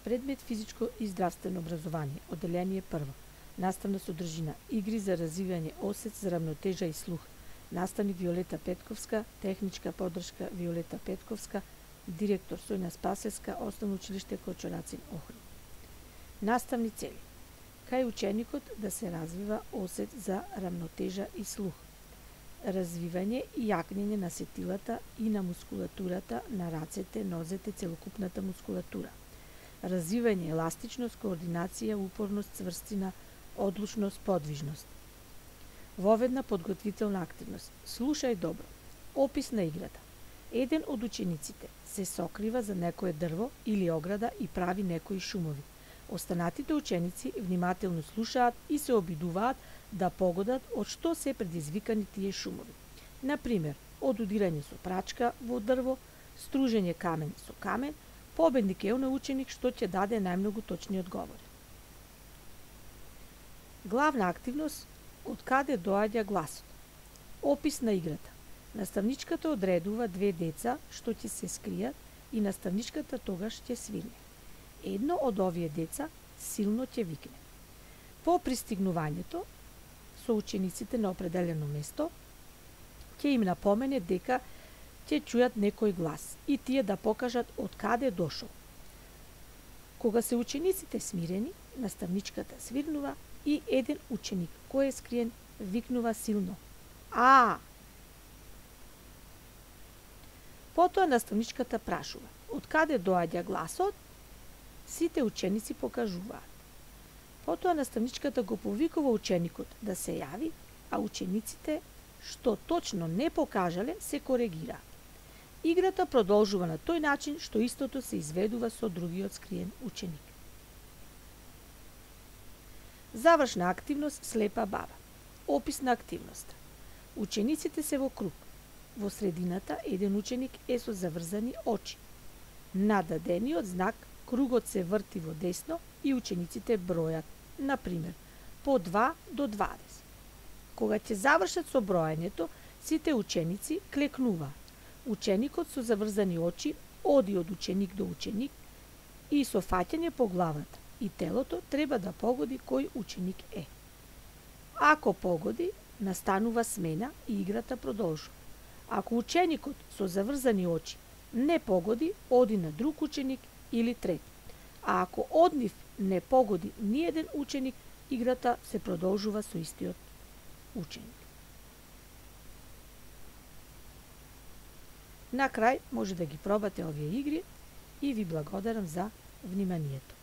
Предмет физичко и здравствено образование, одделение прво. Наставна содржина, игри за развивање осет за рамнотежа и слух. Наставник Виолета Петковска, техничка поддршка Виолета Петковска, директор Соња Спасевска, Основно училиште Кочурацин, Охрид. Наставни цели. Кај ученикот да се развива осет за рамнотежа и слух. Развивање и јакнење на сетилата и на мускулатурата на рацете, нозете, целокупната мускулатура. Развивање еластичност, координација, упорност, цврстина, одлучност, подвижност. Воведна подготвителна активност. Слушај добро. Опис на играта. Еден од учениците се сокрива за некое дрво или ограда и прави некои шумови. Останатите ученици внимателно слушаат и се обидуваат да погодат од што се предизвикани тие шумови. Например, од удирање со прачка во дрво, стружење камен со камен. Победник е оној ученик што ќе даде најмногу точни одговори. Главна активност – од каде доаѓа гласот. Опис на играта. Наставничката одредува две деца што ќе се скријат и наставничката тогаш ќе свирне. Едно од овие деца силно ќе викне. По пристигнувањето со учениците на определено место ќе им напомене дека ќе чујат некој глас и тие да покажат од каде дошол. Кога се учениците смирени, наставничката свирнува и еден ученик кој е скриен викнува силно „А!“. Потоа наставничката прашува од каде доаѓа гласот, сите ученици покажуваат. Потоа наставничката го повикува ученикот да се јави, а учениците што точно не покажале се коригираат. Играта продолжува на тој начин што истото се изведува со другиот скриен ученик. Завршна активност слепа баба. Опис на активноста. Учениците се во круг. Во средината еден ученик е со заврзани очи. На дадениот знак кругот се врти во десно и учениците бројат, например, по 2 до 20. Кога ќе завршат со бројањето, сите ученици клекнуваат. Ученикот со заврзани очи оди од ученик до ученик и со фаќање по главата и телото треба да погоди кој ученик е. Ако погоди, настанува смена и играта продолжува. Ако ученикот со заврзани очи не погоди, оди на друг ученик или трет. А ако од нив не погоди ниеден ученик, играта се продолжува со истиот ученик. На крај може да ги пробате овие игри и ви благодарам за вниманието.